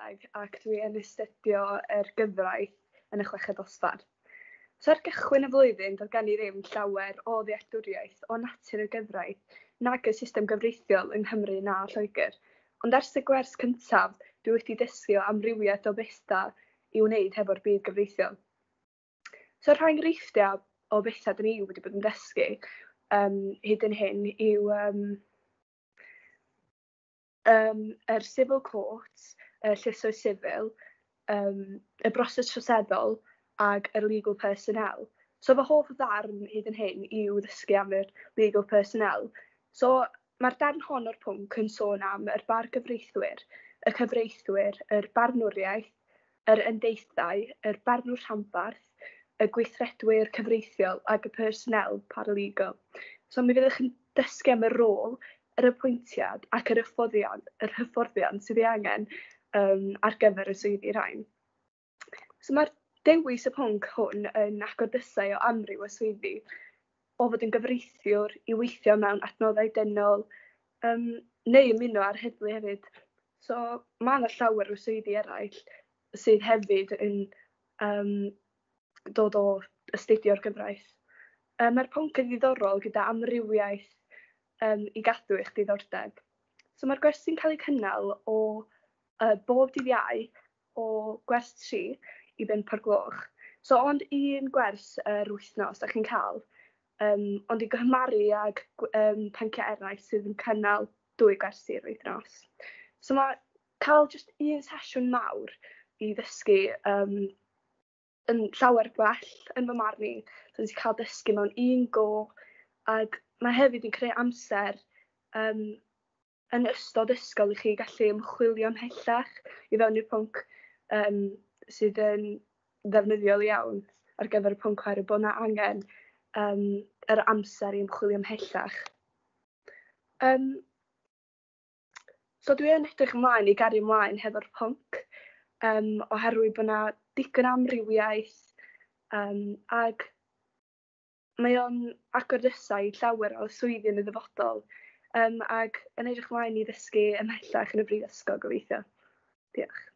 Coleg ac dwi yn astudio yr gyfraith yn y chweched dosbarth. So ar gychwyn y flwyddyn doedd gen i ddim llawer o ddealltwriaeth o natur y gyfraith nag y system gyfreithiol yng Nghymru na Lloegr. Ond ers y gwers cyntaf dwi wedi dysgu o amrywiaeth o bethau i wneud hefo'r byd gyfreithiol. So rhai enghreifftiau o bethau dyn ni wedi bod yn dysgu hyd yn hyn yw yr civil court, y llysoedd sifil, y broses troseddol ag yr legal personnel. So fy hoff ddarn hyd yn hyn yw ddysgu am yr legal personnel. So mae'r darn hon o'r pwnc yn sôn am yr bargyfreithwyr, y cyfreithwyr, yr barnwriaeth, yr yndeithau, yr barnwr rhanbarth, y gweithredwyr cyfreithiol ac y personnel paralegal. So mi fyddwch yn dysgu am y rôl, yr apwyntiad ac yr hyfforddiant sydd ei angen ar gyfer y swyddi rhain. So mae'r dewis y pwnc hwn yn agor drysau o amryw o swyddi, o fod yn gyfreithiwr i weithio mewn adnoddau dynol, neu ymuno â'r heddlu hefyd. So mae yna llawer o swyddi eraill sydd hefyd yn dod o astudio'r gyfraith. Mae'r pwnc yn ddiddorol gyda amrywiaeth i gadw eich diddordeb. So mae'r gwersi'n cael eu cynnal o bob dydd Iau o gwers 3 i 5 o'r gloch. So ond un gwers yr wythnos da chi'n cael, ond i gymharu ag pynciau eraill sydd yn cynnal dwy gwersi yr wythnos. So mae cael jyst un sesiwn mawr i ddysgu yn llawer gwell yn fy marn i. So ti'n cael dysgu mewn un go ac mae hefyd yn creu amser yn ystod ysgol i chi gallu ymchwilio ymhellach i fewn i'r pwnc sydd yn ddefnyddiol iawn ar gyfer y pwnc oherwydd bod 'na angen yr amser i ymchwilio ymhellach. So dwi yn edrych ymlaen i gario ymlaen hefo'r pwnc oherwydd bod 'na digon o amrywiaeth ag mae o'n agor drysau i llawer o swyddi yn y dyfodol ag yn edrych ymlaen i ddysgu ymhellach yn y brifysgol gobeithio. Diolch.